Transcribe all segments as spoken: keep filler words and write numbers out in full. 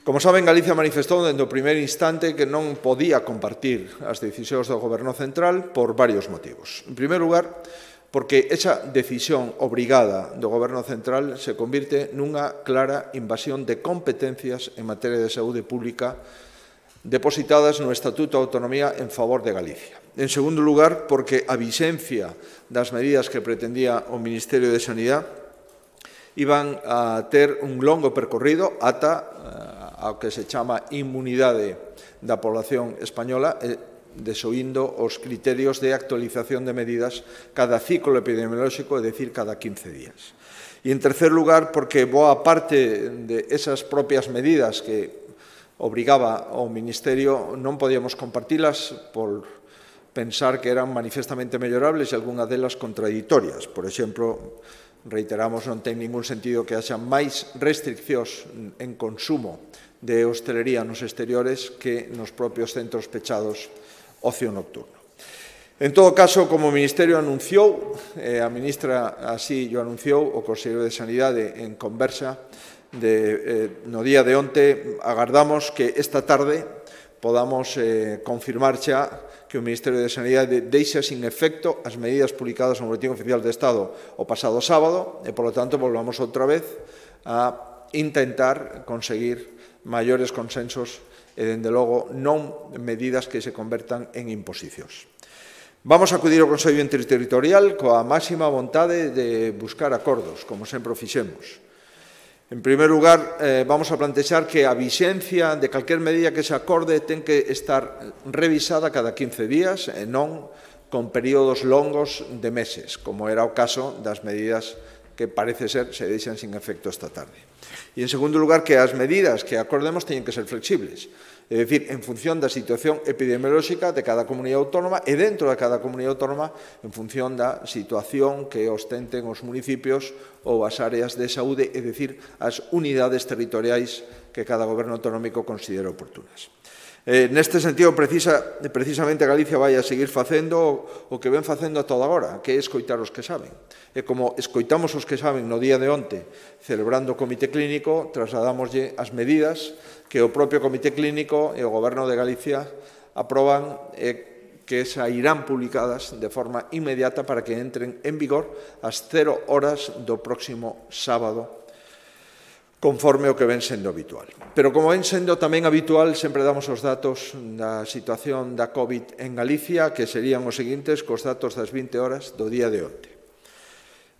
Como saben, Galicia manifestou dende o primeiro instante que non podía compartir as decisións do Goberno central por varios motivos. En primeiro lugar, porque esa decisión obrigada do Goberno central se convirte nunha clara invasión de competencias en materia de saúde pública depositadas no Estatuto de Autonomía en favor de Galicia. En segundo lugar, porque a vixencia das medidas que pretendía o Ministerio de Sanidade iban a ter un longo percorrido ata ao que se chama inmunidade da población española, desoindo os criterios de actualización de medidas cada ciclo epidemiolóxico, é dicir, cada quince días. E, en tercer lugar, porque boa parte de esas propias medidas que obrigaba ao Ministerio non podíamos compartilas por pensar que eran manifestamente mellorables e algunha delas contradictorias. Por exemplo, reiteramos, non ten ningún sentido que haxa máis restriccións en consumo de hostelería nos exteriores que nos propios centros pechados ocio nocturno. En todo caso, como o Ministerio anunciou, eh, a ministra así o anunciou, o Conselleiro de Sanidade en conversa de, eh, no día de onte, agardamos que esta tarde podamos eh, confirmar xa que o Ministerio de Sanidade deixa sin efecto as medidas publicadas no Boletín Oficial de Estado o pasado sábado e, polo tanto, volvamos outra vez a intentar conseguir maiores consensos e, dende logo, non medidas que se convertan en imposicións. Vamos a acudir ao Consello Interterritorial coa máxima vontade de buscar acordos, como sempre o fixemos. En primeiro lugar, eh, vamos a plantexar que a vixencia de calquer medida que se acorde ten que estar revisada cada quince días e non con períodos longos de meses, como era o caso das medidas que parece ser se deixan sin efecto esta tarde. E, en segundo lugar, que as medidas que acordemos teñen que ser flexibles, é dicir, en función da situación epidemiolóxica de cada comunidade autónoma e dentro de cada comunidade autónoma en función da situación que ostenten os municipios ou as áreas de saúde, é dicir, as unidades territoriais que cada goberno autonómico considere oportunas. Eh, neste sentido, precisa, precisamente Galicia vai a seguir facendo o que ven facendo a toda agora, que é escoitar os que saben. E como escoitamos os que saben no día de onte, celebrando o Comité Clínico, trasladámoslle as medidas que o propio Comité Clínico e o Goberno de Galicia aproban e que sairán publicadas de forma inmediata para que entren en vigor ás cero horas do próximo sábado, conforme o que ven sendo habitual. Pero, como ven sendo tamén habitual, sempre damos os datos da situación da COVID en Galicia, que serían os seguintes cos datos das vinte horas do día de onte.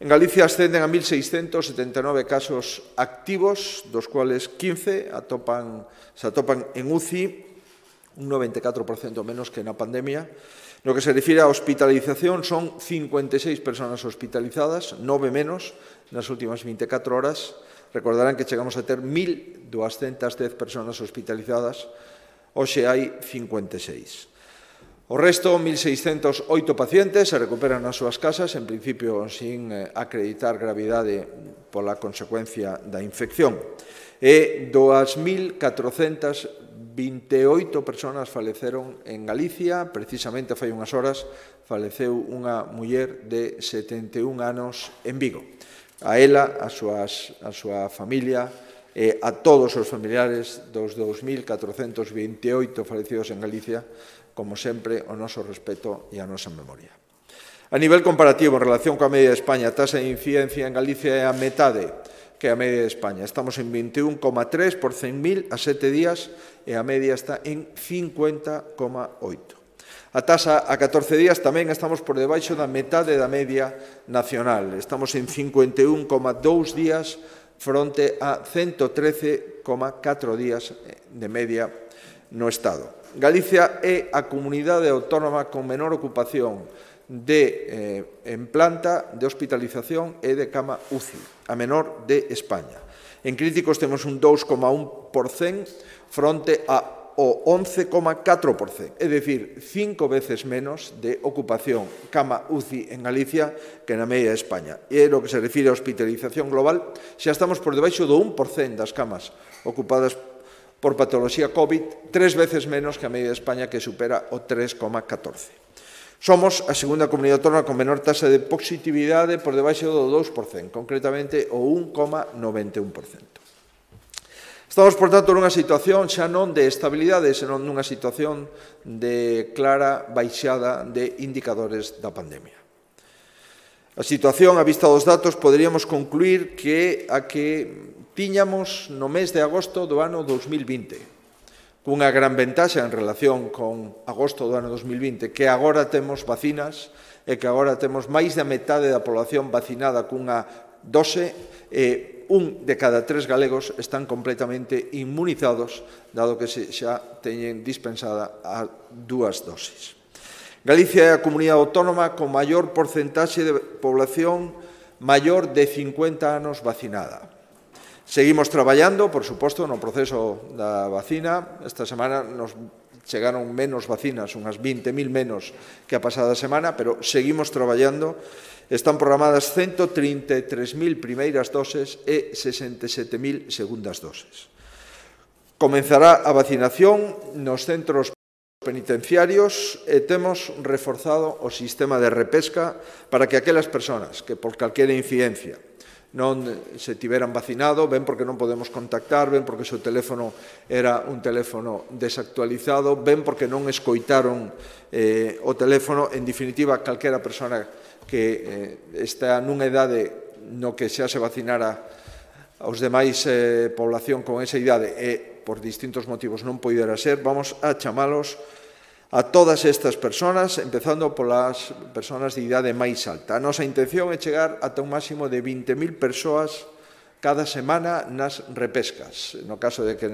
En Galicia ascenden a mil seiscentos setenta e nove casos activos, dos cuales quince atopan, se atopan en U C I, un noventa e catro por cento menos que na pandemia. No que se refire a hospitalización, son cincuenta e seis persoas hospitalizadas, nove menos nas últimas vinte e catro horas. Recordarán que chegamos a ter mil doscientas dez persoas hospitalizadas, hoxe hai cincuenta e seis. O resto, mil seiscentos oito pacientes, se recuperan nas súas casas, en principio sin acreditar gravidade pola consecuencia da infección. E dúas mil catrocentas vinte e oito persoas faleceron en Galicia. Precisamente fai unhas horas faleceu unha muller de setenta e un anos en Vigo. A ela, a, súas, a súa familia e a todos os familiares dos dous mil catrocentos vinte e oito falecidos en Galicia, como sempre, o noso respeto e a nosa memoria. A nivel comparativo, en relación coa media de España, a taxa de incidencia en Galicia é a metade que a media de España. Estamos en vinte e un coma tres por cen mil a sete días e a media está en cincuenta coma oito. A taxa a catorce días tamén estamos por debaixo da metade da media nacional. Estamos en cincuenta e un coma dous días fronte a ciento trece coma catro días de media no Estado. Galicia é a comunidade autónoma con menor ocupación de, eh, en planta de hospitalización e de cama U C I, a menor de España. En críticos temos un dous coma un por cento fronte a o once coma catro por cento, é dicir, cinco veces menos de ocupación cama U C I en Galicia que na media de España. E no que se refire a hospitalización global, xa estamos por debaixo do un por cento das camas ocupadas por patoloxía COVID, tres veces menos que a media de España, que supera o tres coma catorce. Somos a segunda comunidade autónoma con menor taxa de positividade por debaixo do dous por cento, concretamente o un coma noventa e un por cento. Estamos, por tanto, nunha situación xa non de estabilidade, senón nunha situación de clara baixada de indicadores da pandemia. A situación, a vista dos datos, poderíamos concluir que a que tiñamos no mes de agosto do ano dos mil vinte, cunha gran ventaxa en relación con agosto do ano dos mil vinte, que agora temos vacinas e que agora temos máis da metade da población vacinada cunha dose e un de cada tres galegos están completamente inmunizados, dado que xa teñen dispensada as dúas dosis. Galicia é a comunidade autónoma con maior porcentaxe de población maior de cincuenta anos vacinada. Seguimos traballando, por suposto, no proceso da vacina. Esta semana nos chegaron menos vacinas, unhas vinte mil menos que a pasada semana, pero seguimos traballando. Están programadas ciento trinta e tres mil primeiras doses e sesenta e sete mil segundas doses. Comenzará a vacinación nos centros penitenciarios e temos reforzado o sistema de repesca para que aquelas persoas que por calquera incidencia non se tiveran vacinado, ben porque non podemos contactar, ben porque o seu teléfono era un teléfono desactualizado, ben porque non escoitaron eh, o teléfono, en definitiva, calquera persona que eh, está nunha idade no que xa se vacinara aos demais eh, población con esa idade e por distintos motivos non poidera ser, vamos a chamalos a todas estas persoas, empezando polas persoas de idade máis alta. A nosa intención é chegar ata un máximo de vinte mil persoas cada semana nas repescas. No caso de que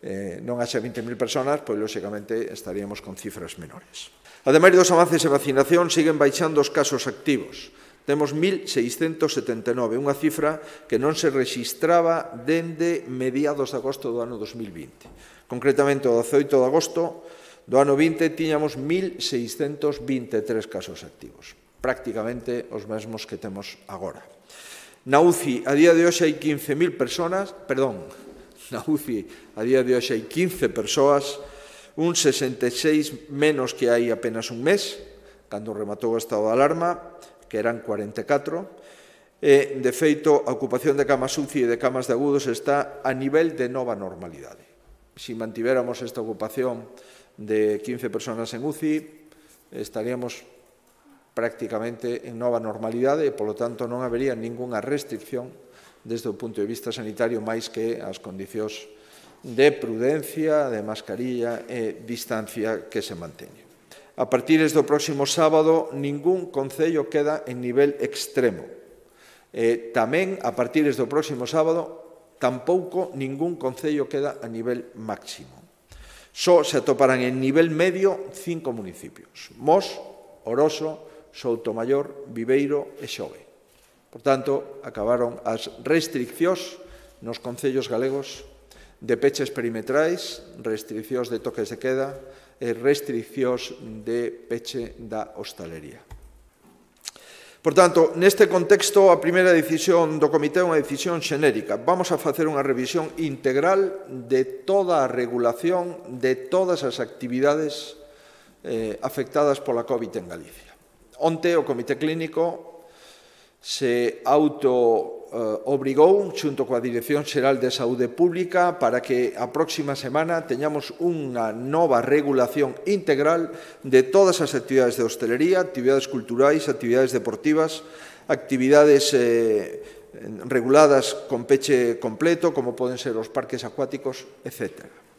eh, non haxa vinte mil persoas, pois, lóxicamente, estaríamos con cifras menores. Ademais dos avances de vacinación, siguen baixando os casos activos. Temos mil seiscentos setenta e nove, unha cifra que non se rexistraba dende mediados de agosto do ano dos mil vinte. Concretamente, o dezaoito de agosto do ano vinte tiñamos mil seiscentos vinte e tres casos activos, prácticamente os mesmos que temos agora. Na U C I, a día de hoxe hai quince mil persoas, perdón, na U C I, a día de hoxe hai quince persoas, un sesenta e seis menos que hai apenas un mes, cando rematou o estado de alarma, que eran cuarenta e catro, e, de feito, a ocupación de camas U C I e de camas de agudos está a nivel de nova normalidade. Se mantivéramos esta ocupación de quince persoas en U C I, estaríamos prácticamente en nova normalidade e, polo tanto, non habería ningunha restricción desde o punto de vista sanitario máis que as condicións de prudencia, de mascarilla e distancia que se manteñen. A partir do próximo sábado, ningún concello queda en nivel extremo. E tamén, a partir do próximo sábado, tampouco ningún concello queda a nivel máximo. Só se atoparán en nivel medio cinco municipios: Mos, Oroso, Soutomaior, Viveiro e Xove. Por tanto, acabaron as restriccións nos concellos galegos de peches perimetrais, restriccións de toques de queda e restriccións de peche da hostalería. Por tanto, neste contexto, a primeira decisión do Comité é unha decisión xenérica. Vamos a facer unha revisión integral de toda a regulación de todas as actividades eh, afectadas pola COVID en Galicia. Onte, o Comité Clínico se auto eh, obrigou, xunto coa Dirección Xeral de Saúde Pública, para que a próxima semana teñamos unha nova regulación integral de todas as actividades de hostelería, actividades culturais, actividades deportivas, actividades eh, reguladas con peche completo, como poden ser os parques acuáticos, etcétera.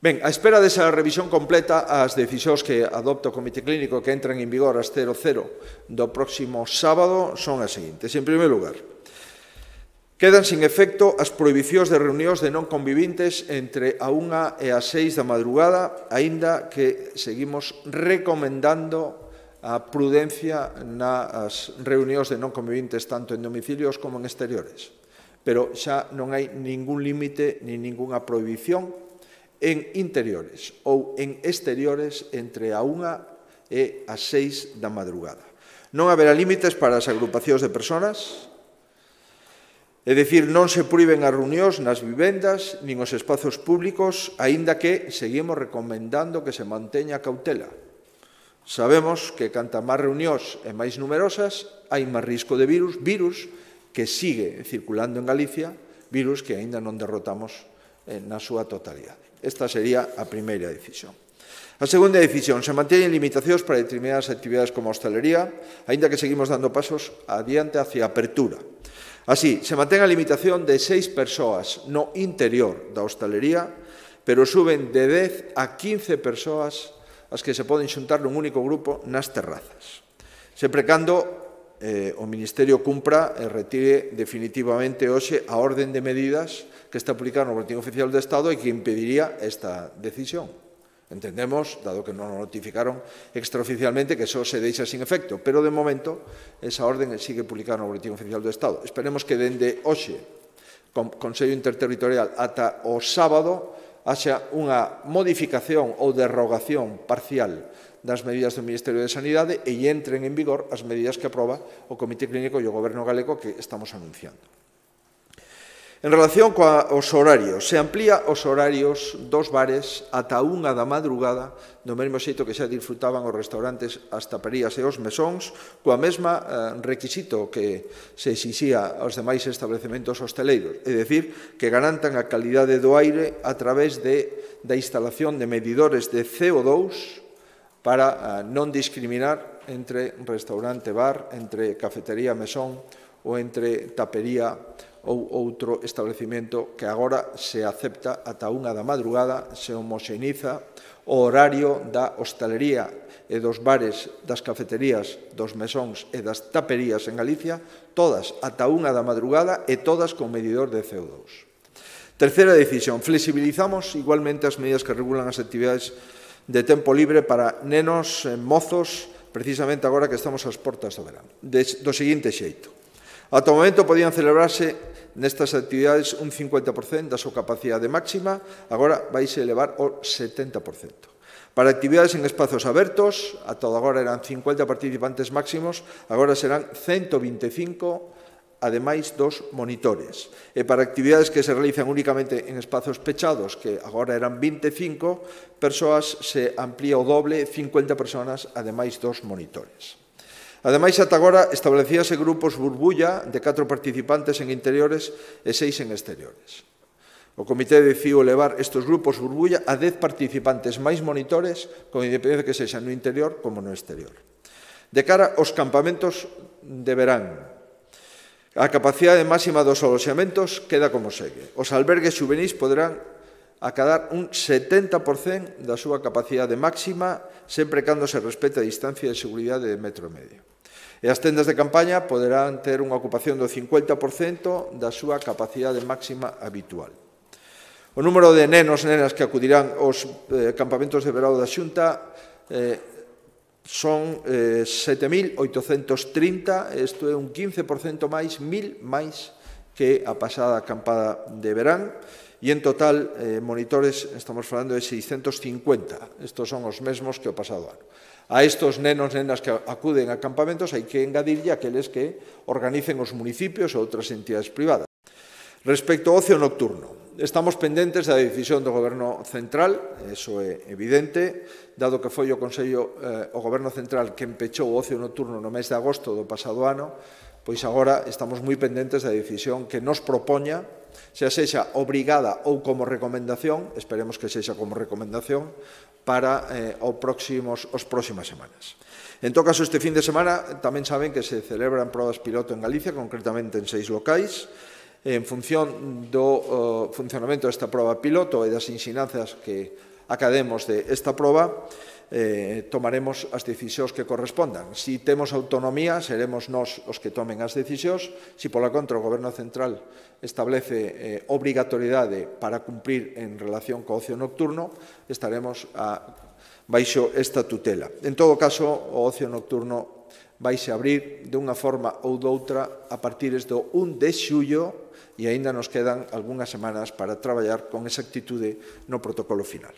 Ben, a espera desa revisión completa, as decisións que adopta o Comité Clínico que entran en vigor ás cero cero do próximo sábado son as seguintes. En primeiro lugar, quedan sin efecto as prohibicións de reunións de non convivintes entre a unha e as seis da madrugada, aínda que seguimos recomendando a prudencia nas reunións de non convivintes tanto en domicilios como en exteriores. Pero xa non hai ningún límite ni ningunha prohibición en interiores ou en exteriores entre a unha e as seis da madrugada. Non haberá límites para as agrupacións de persoas, é dicir, non se proíben as reunións nas vivendas nin os espazos públicos, aínda que seguimos recomendando que se manteña a cautela. Sabemos que canta máis reunións e máis numerosas, hai máis risco de virus, virus que sigue circulando en Galicia, virus que aínda non derrotamos na súa totalidade. Esta sería a primeira decisión. A segunda decisión, se manteñen limitacións para determinadas actividades como a hostalería, aínda que seguimos dando pasos adiante hacia a apertura. Así, se mantén a limitación de seis persoas no interior da hostalería, pero suben de dez a quince persoas as que se poden xuntar nun único grupo nas terrazas. Sempre cando eh, o Ministerio cumpra e retire definitivamente hoxe a orden de medidas que está publicada no Boletín Oficial do Estado e que impediría esta decisión. Entendemos, dado que non o notificaron extraoficialmente, que só se deixa sin efecto, pero de momento esa orden sigue publicada no Boletín Oficial do Estado. Esperemos que dende hoxe, con Consello Interterritorial, ata o sábado, haxa unha modificación ou derrogación parcial das medidas do Ministerio de Sanidade e entren en vigor as medidas que aproba o Comité Clínico e o Goberno galego que estamos anunciando. En relación coos horarios, se amplía os horarios dos bares ata unha da madrugada, do mesmo xeito que xa disfrutaban os restaurantes, as taperías e os mesóns, coa mesma eh, requisito que se exixía aos demais establecementos hosteleiros, é dicir, que garantan a calidade do aire a través de, da instalación de medidores de C O dous para eh, non discriminar entre restaurante-bar, entre cafetería-mesón ou entre tapería ou outro establecemento que agora se acepta ata unha da madrugada, se homoxeniza o horario da hostalería e dos bares, das cafeterías, dos mesóns e das taperías en Galicia, todas ata unha da madrugada e todas con medidor de C O dous. Terceira decisión, flexibilizamos igualmente as medidas que regulan as actividades de tempo libre para nenos e mozos, precisamente agora que estamos ás portas do verán. Do seguinte xeito. Ata o momento podían celebrarse nestas actividades un cincuenta por cento da súa capacidade máxima, agora vaise elevar ao setenta por cento. Para actividades en espazos abertos, ata agora eran cincuenta participantes máximos, agora serán ciento vinte e cinco, ademais dos monitores. E para actividades que se realizan únicamente en espazos pechados, que agora eran vinte e cinco persoas, se amplía o doble, cincuenta persoas, ademais dos monitores. Ademais, ata agora establecíase grupos burbulla de catro participantes en interiores e seis en exteriores. O Comité decidiu elevar estes grupos burbulla a dez participantes máis monitores, con independencia que sexa no interior como no exterior. De cara aos campamentos de verán, a capacidade máxima dos aloxamentos queda como segue. Os albergues xuvenís poderán acadar un setenta por cento da súa capacidade máxima, sempre cando se respete a distancia de seguridade de metro e medio. E as tendas de campaña poderán ter unha ocupación do cincuenta por cento da súa capacidade máxima habitual. O número de nenos e nenas que acudirán aos eh, campamentos de verão da Xunta eh, son eh, sete mil oitocentos trinta, isto é un quince por cento máis, mil máis que a pasada acampada de verán, e en total, eh, monitores, estamos falando de seiscentos cincuenta, estos son os mesmos que o pasado ano. A estos nenos e nenas que acuden a campamentos hai que engadirlle aqueles que organicen os municipios ou outras entidades privadas. Respecto ao ocio nocturno, estamos pendentes da decisión do Goberno Central, eso é evidente, dado que foi o Consello, eh, o Goberno Central que empechou o ocio nocturno no mes de agosto do pasado ano, pois agora estamos moi pendentes da decisión que nos propoña, xa sexa obrigada ou como recomendación, esperemos que sexa como recomendación, para eh, os próximos, os próximas semanas. En todo caso, este fin de semana tamén saben que se celebran probas piloto en Galicia, concretamente en seis locais. En función do uh, funcionamento desta proba piloto e das ensinanzas que academos de esta proba, eh, tomaremos as decisións que correspondan. Si temos autonomía, seremos nós os que tomen as decisións. Si, pola contra, o Goberno Central establece eh, obrigatoriedade para cumprir en relación co ocio nocturno, estaremos a, baixo esta tutela. En todo caso, o ocio nocturno vaise abrir de unha forma ou doutra a partir do un de xullo e aínda nos quedan algunhas semanas para traballar con exactitude no protocolo final.